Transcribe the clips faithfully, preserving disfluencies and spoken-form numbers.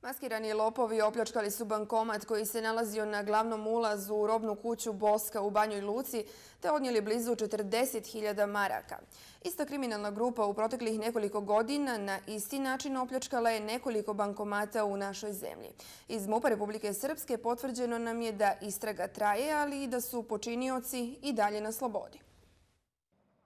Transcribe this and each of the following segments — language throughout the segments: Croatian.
Maskirani lopovi opljačkali su bankomat koji se nalazio na glavnom ulazu u robnu kuću Boska u Banjoj Luci te odnijeli blizu četrdeset hiljada maraka. Ista kriminalna grupa u proteklih nekoliko godina na isti način opljačkala je nekoliko bankomata u našoj zemlji. Iz MUP-a Republike Srpske potvrđeno nam je da istraga traje, ali i da su počinioci i dalje na slobodi.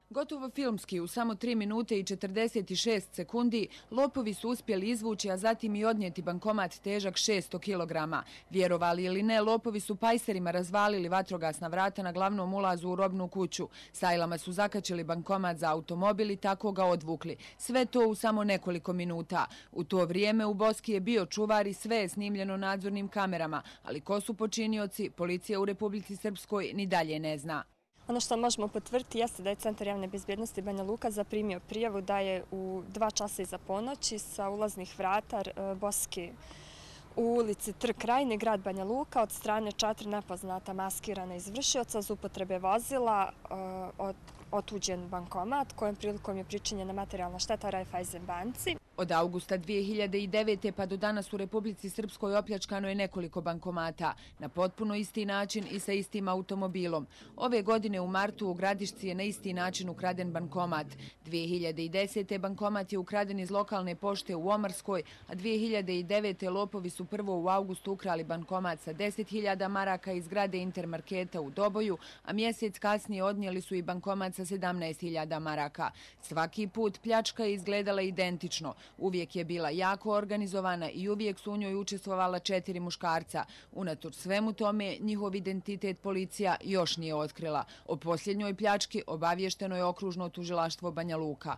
Gotovo filmski, u samo tri minute i četrdeset šest sekundi, lopovi su uspjeli izvući, a zatim i odnijeti bankomat težak šesto kilograma. Vjerovali ili ne, lopovi su pajserima razvalili vatrogasna vrata na glavnom ulazu u robnu kuću. Sajlama su zakačili bankomat za automobil i tako ga odvukli. Sve to u samo nekoliko minuta. U to vrijeme u Boski je bio čuvar i sve je snimljeno nadzornim kamerama, ali ko su počinioci, policija u Republici Srpskoj ni dalje ne zna. Ono što možemo potvrditi jeste da je Centar javne bezbjednosti Banja Luka zaprimio prijavu da je u dva časa iza ponoći sa ulaznih vrata Boske u ulici Trg Krajine, grad Banja Luka, od strane četiri nepoznata maskirana izvršioca za upotrebe vozila otuđen bankomat kojom prilikom je pričinjena materijalna šteta Raiffeisen banci. Od augusta dvije hiljade devete. pa do danas u Republici Srpskoj opljačkano je nekoliko bankomata, na potpuno isti način i sa istim automobilom. Ove godine u martu u Gradišci je na isti način ukraden bankomat. dvije hiljade desete. bankomat je ukraden iz lokalne pošte u Omarskoj, a dvije hiljade devete. lopovi su prvo u augustu ukrali bankomat sa deset hiljada maraka iz zgrade Intermarketa u Doboju, a mjesec kasnije odnijeli su i bankomat sa sedamnaest hiljada maraka. Svaki put pljačka je izgledala identično. Uvijek je bila jako organizovana i uvijek su u njoj učestvovala četiri muškarca. Unatoč svemu tome, njihov identitet policija još nije otkrila. O posljednjoj pljački obavješteno je okružno tužilaštvo Banja Luka.